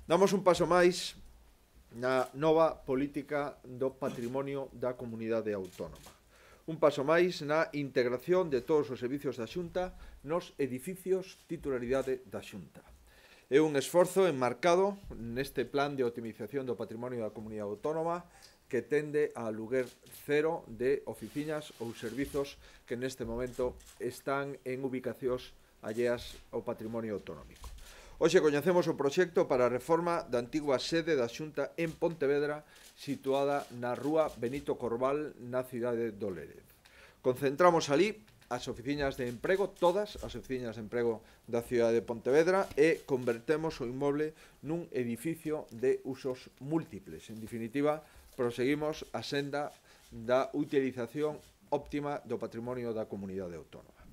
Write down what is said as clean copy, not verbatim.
Damos un paso máis na nova política do patrimonio da comunidade autónoma. Un paso máis na integración de todos os servicios da Xunta nos edificios titularidade da Xunta. É un esforzo enmarcado neste plan de optimización do patrimonio da comunidade autónoma que tende a aluguer cero de oficinas ou servizos que neste momento están en ubicacións alleas ao patrimonio autonómico. Hoxe coñecemos o proxecto para a reforma da antigua sede da Xunta en Pontevedra, situada na rúa Benito Corval, na cidade do Lérez. Concentramos ali as oficinas de emprego, todas as oficinas de emprego da cidade de Pontevedra, e convertemos o inmoble nun edificio de usos múltiples. En definitiva, proseguimos a senda da utilización óptima do patrimonio da comunidade autónoma.